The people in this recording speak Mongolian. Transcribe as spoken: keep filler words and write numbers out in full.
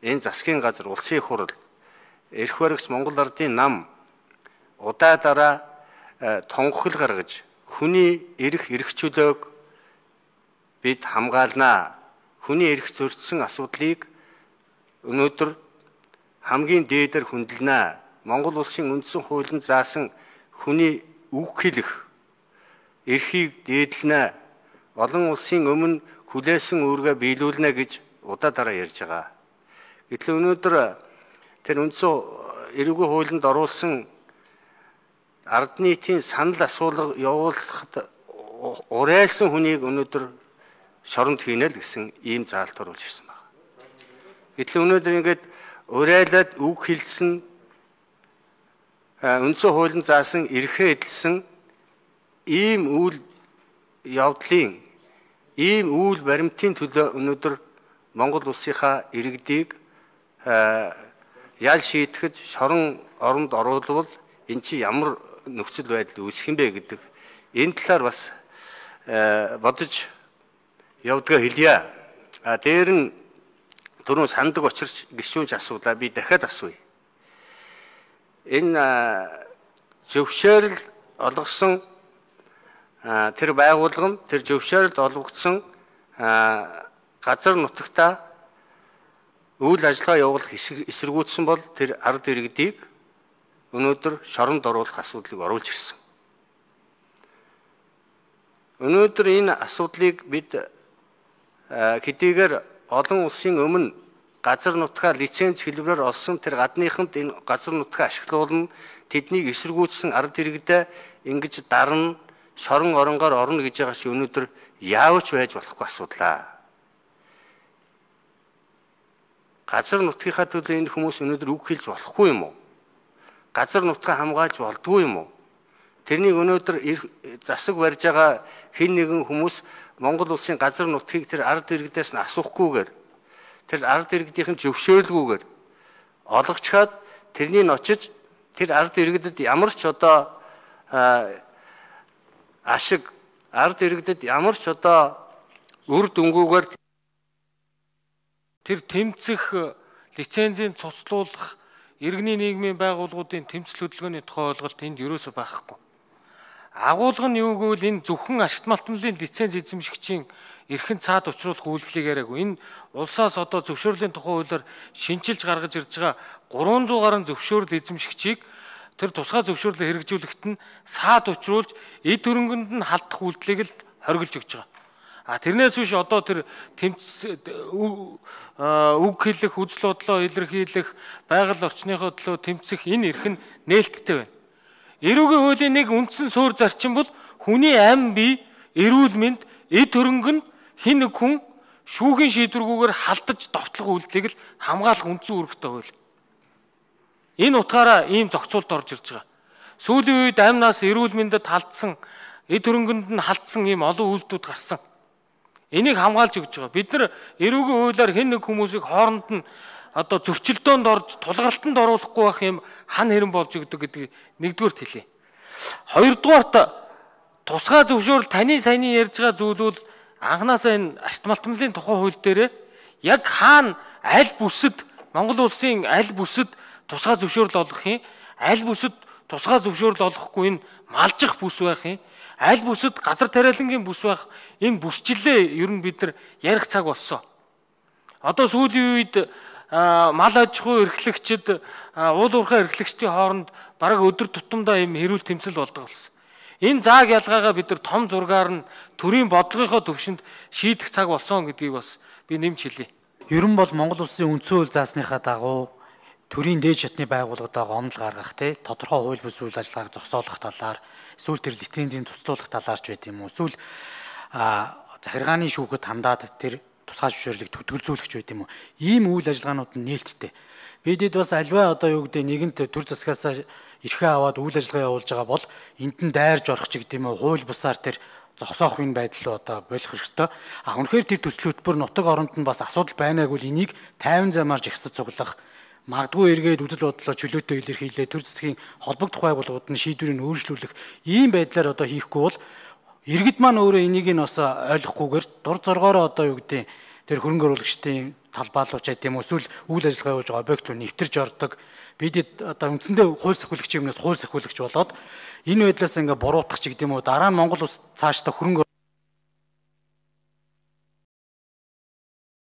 энэ засгийн газар, улсын хурал, эрх баригч Монгол Ардын нам удаа дараа тунхаглал гаргаж хүний эрх эрх чөлөөг бид хамгаалнаа. Хүний эрх зөрчсөн асуудлыг өнөөдөр хамгийн дээдээр хүндэлнэ. Монгол улсын үндсэн хуулинд заасан хүний үг хэлэх эрхийг дээдлэнэ. Олон улсын өмнө хүлээсэн үүргээ биелүүлнэ гэж удаа дараа ярьж байгаа. Гэтэл өнөөдөр тэр үндсэн эрүүгийн хуулинд оруулсан ард нийтийн санал асуулга явуулахад урайлсан хүнийг өнөөдөр шоронд хийнэ л гэсэн ийм заалт оруулж ирсэн байна. Гэтэл өнөөдөр ингээд урайлаад үг хэлсэн үндсэн хуулинд заасан эрхээ эдэлсэн ийм үйл явдлын ийм үйл баримтын төлөө өнөөдөр Монгол улсынхаа иргэдийг ял шийтгэж шорон оронд оруулвал эн чи ямар нөхцөл байдал үүсэх юм бэ гэдэг энэ талаар бас бодож явдгаа хэлье. А дээр нь түрүүн сандаг очирч гишүүнч асуулаа, би дахиад асууя. Энэ зөвшөөрөл олгосон тэр байгууллага, тэр зөвшөөрөлд олгогдсон газар нутагтаа үйл ажиллагаа явуулах эсэргүүцсэн бол тэр ард иргэдийг өнөөдөр шоронд оруулах асуудлыг оруулж ирсэн. Өнөөдөр энэ асуудлыг бид хэдийгээр олон улсын өмнө газар нутгаа лиценз хэлбэрээр олсон тэр гадныханд энэ газар нутгаа ашиглуулна, тэднийг эсэргүүцсэн ард иргэдээ ингэж дарна, шорон оронгоор орно гэж байгаа чи өнөөдөр яавч байж болохгүй асуудлаа. Газар нутгийнхаа төлөө энэ хүмүүс өнөөдөр үг хэлж болохгүй юм уу? Газар нутгаа хамгаалж болдгүй юм уу? Тэрнийг өнөөдөр засаг барьж байгаа хэн нэгэн хүмүүс Монгол улсын газар нутгийг тэр ард иргэдээс нь асуухгүйгээр, тэр ард иргэдийн зөвшөөрлгүйгээр олгочхаад тэрнийг очиж тэр ард иргэдэд ямар ч одоо ашиг, ард иргэдэд ямар ч одоо үр дүнгүйгээр тэр тэмцэх лицензийн цуцлуулах иргэний нийгмийн байгууллагуудын тэмцэл хөдөлгөөний тухай ойлголт энд ерөөсөө байхгүй. Агуулга нь юу гэвэл энэ зөвхөн ашигт малтмлын лиценз эзэмшигчийн эрхэнд цаад учруулах үйлдэлийг яриагүй. Энэ улсаас одоо зөвшөөрлийн тухай хуулиар шинжилж гаргаж ирж байгаа гурван зуун гаруй зөвшөөрөл эзэмшигчийг тэр тусгай зөвшөөрлөөр хэрэгжүүлэхэд нь саад учруулж эд хөрөнгөнд нь халдах үйлдэлийг л хоригдж өгч байгаа. А тэрнээс биш одоо тэр тэмц үг хэлэх, үзэл бодлоо илэрхийлэх, байгаль орчныхоо төлөө тэмцэх энэ эрх нь нээлттэй байна. Эрүүгийн хуулийн нэг үндсэн суурь зарчим бол хүний амь бие, эрүүл мэнд, эд хөрөнгө нь хэн нэг хүн шүүхийн шийдвэргүйгээр халдаж довтлох үйлдэлийг л хамгаалах үндсэн үүрэгтэй хууль. Энэ утгаараа ийм зохицуулт орж ирж байгаа. Сүүлийн үед амнаас эрүүл мэндэд халдсан, эд хөрөнгөнд нь халдсан ийм олон үйлдэлүүд гарсан. Энийг хамгаалж өгч байгаа. Бид нар эрүүгийн хуулиар хэн нэг хүмүүсийг хооронд нь одоо зөрчилдөөнд орж тулгалтанд оруулахгүй байх юм хан хэрэн болж өгдөг гэдгийг нэгдүгээрт хэлье. Хоёрдугаарт тусгай зөвшөөрөл таны саяны ярьж байгаа зүйлүүд анханасаа энэ ашигт малтмлын тухай хууль дээр яг хаана аль бүсэд Монгол улсын аль бүсэд тусгай зөвшөөрөл олгох юм, аль бүсэд тусгай зөвшөөрөл олохгүй энэ малжих бүс байх юм, аль бүсэд газар тариалангийн бүс байх, энэ бүсчлээ ер нь бид нар ярих цаг болсон. Одоо сүүлийн үед мал аж ахуй эрхлэгчид, уул уурхай эрхлэгчдийн хооронд бараг өдөр тутамдаа юм хэрүүл тэмцэл болдог болсон. Энэ зааг ялгаагаа бид нар том зургаар нь төрийн бодлогынхоо төвшөнд шийдэх цаг болсон гэдгийг бас би нэмж хэлье. Ер нь бол Монгол улсын үндсэн хууль заасныхаа дагуу төрийн дээд шатны байгууллагад гомдол гаргах, те тодорхой хууль бус үйл ажиллагааг зогсоолох талаар, эсвэл тэр лицензийн туслуулах талаарч байт юм уу, эсвэл захиргааны шүүхэд хандаад тэр тусгай зөвшөөрлийг төтгөлзүүлэгч байт юм уу? Ийм үйл ажиллагаанууд нь нээлттэй. Бидэд бас альва одоо юу гэдэг нэгэнт төр засгаас эрхээ аваад үйл ажиллагаа явуулж байгаа бол энд нь дайрж орох ч гэдэг юм уу, хууль бусаар тэр зогсоох энэ байдал руу одоо болох хэрэгтэй. А үнэхээр тэр төсөл хөтөлбөр нутаг оронд нь бас асуудал байнааг бол энийг тайван замаар жигсаж цуглах, магадгүй эргээд үзэл бодлоо чөлөөтэй илэрхийлээ, төр засгийн холбогдох байгууллагууд нь шийдвэрийг өөрчлүүлэх ийм байдлаар одоо хийхгүй бол иргэд маань өөрөө энийг нь бас ойлгохгүйгээр дур зоргоороо одоо юу гэдэг тэр хөрөнгө оруулагчдын талбайлууч гэдэг юм уу эсвэл үйл ажиллагаа явуулж байгаа объект руу нэвтэрж ордог. Бидэд одоо үндсэндээ хууль сахиулагч юмнаас хууль сахиулагч болоод энэ байдлаас ингээ буруутгах ч гэдэг юм уу дараа нь Монгол улс цаашдаа хөрөнгө